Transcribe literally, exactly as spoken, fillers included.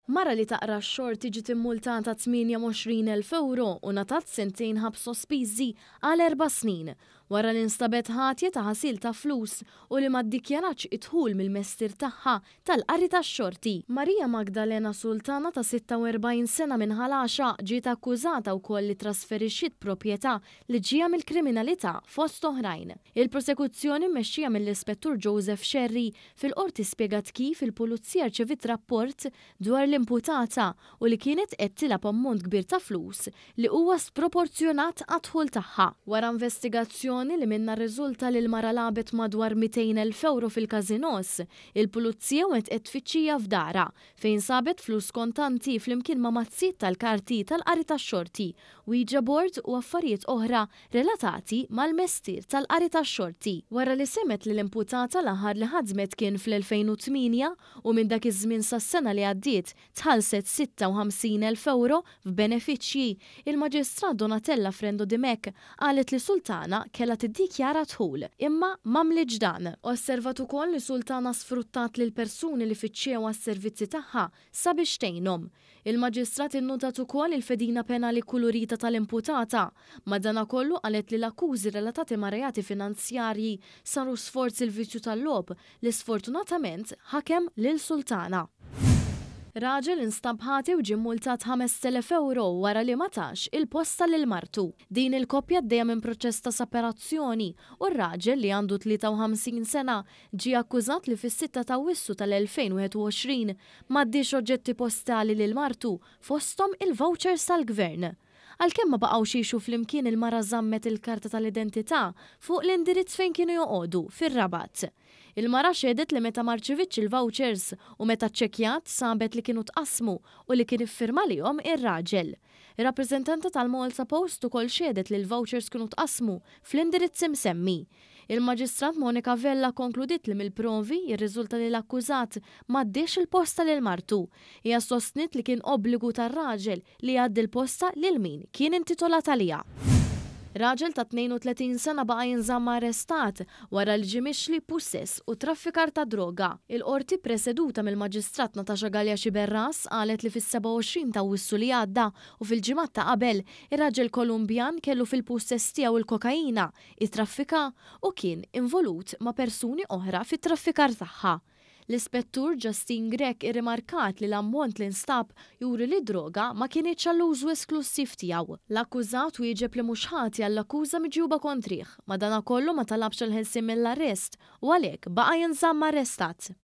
Mara li taqra x-xorti ġiet immultata tmienja u għoxrin elf euro u ngħatat sentejn ħabs sospiżi għal erba' snin wara li nstabet ħatja ta' ħasil ta' flus u li ma ddikjaratx id-dħul mill-mestier tagħha tal-qari tax-xorti. Maria Magdalena Sultana ta' sitta u erbgħin sena minn Ħal Għaxaq ġiet akkużata wkoll li trasferixxiet proprjetà li ġejja mill-kriminalità, fost oħrajn. Il-prosekuzzjoni, mmexxija mill-Ispettur Joseph Scerri, fil-qorti spjegat kif il-pulizija rċevit rapport dwar l-imputata u li kienet qed tilgħab ammont kbir ta' flus li huwa sproporzjonat għad-dħul tagħha. Wara investigazzjoni li minnha rriżulta li l-mara lagħbet madwar mitejn elf euro fil-każinos, il-pulizija wettqet tfittxija f'darha fejn sabet flus kontanti flimkien ma' mazzijiet tal-karti tal-qari tax-xorti, Ouija board u affarijiet oħra relatati mal-mestier tal-qari tax-xorti. Wara li semgħet li l-imputata l-aħħar li ħadmet kien fl-elfejn u tmienja u minn dak iż-żmien sas-sena li għaddiet tħallset sitta u ħamsin elf euro f'benefiċċji, il-Maġistrat Donatella Frendo Dimech qalet li Sultana kellha tiddikjara dħul, imma m'għamlitx dan. Osservat ukoll li Sultana sfruttat lil persuni li fittxew għas-servizzi tagħha sabiex tgħinhom. Il-Maġistrat innotat ukoll il-fedina penali kulurita tal-imputata. Madanakollu qalet li l-akkużi relatati ma' reati finanzjarji saru sforz il-vizzju tal-logħob li sfortunatament ħakem lil Sultana. Raġel instab ħati u ġie multat ħamest elef euro wara li ma tax il-posta lil martu. Din il-koppja għaddejja minn proċess ta' separazzjoni u r-raġel, li għandu tlieta u ħamsin sena, ġie akkużat li fis-sitta ta' Awwissu tal-elfejn u wieħed u għoxrin m'għaddiex oġġetti postali lil martu, fosthom il-vouchers tal-gvern. Għalkemm ma baqgħux jgħixu flimkien, il-mara żammet il-karta tal-identità fuq l-indirizz fejn kienu joqogħdu fir-Rabat. Il-mara xehdet li meta ma rċevitx il-vouchers u meta ċċekkjat sabet li kienu tqasmu u li kien iffirma lihom ir-raġel. Ir-rappreżentanta tal-Malta Post ukoll xehdet li l-vouchers kienu tqasmu fl-indirizz imsemmi. Il-Maġistrat Monica Vella konkludiet li mill-provi jirriżulta li l-akkużat m'għaddiex il-posta lil martu. Hija sostniet li kien obbligu tar-raġel li jgħaddi l-posta lil min kien intitolat għaliha. Raġel ta' tnejn u tletin sena baqa' jinżamm arrestat wara li ġie mixli pussess u traffikar ta' droga. Il-qorti, preseduta mill-Maġistrat Natasha Galea Sciberras, qalet li fis-sebgħa u għoxrin ta' Awwissu li għadda u fil-ġimgħat ta' qabel, ir-raġel Kolumbjan kellu fil-pussess tiegħu il-kokaina, it-traffika u kien involut ma' persuni oħra fit-traffikar tagħha. L-Ispettur Justin Grech irrimarkat li l-ammont li nstab juri li droga ma kinitx għall-użu esklusiv tiegħu. L-akkużat wieġeb li mhux ħati għall-akkuża miġjuba kontrih, madanakollu ma talabx il-ħelsien mill-arrest u għalhekk baqa' jinżamm arrestat.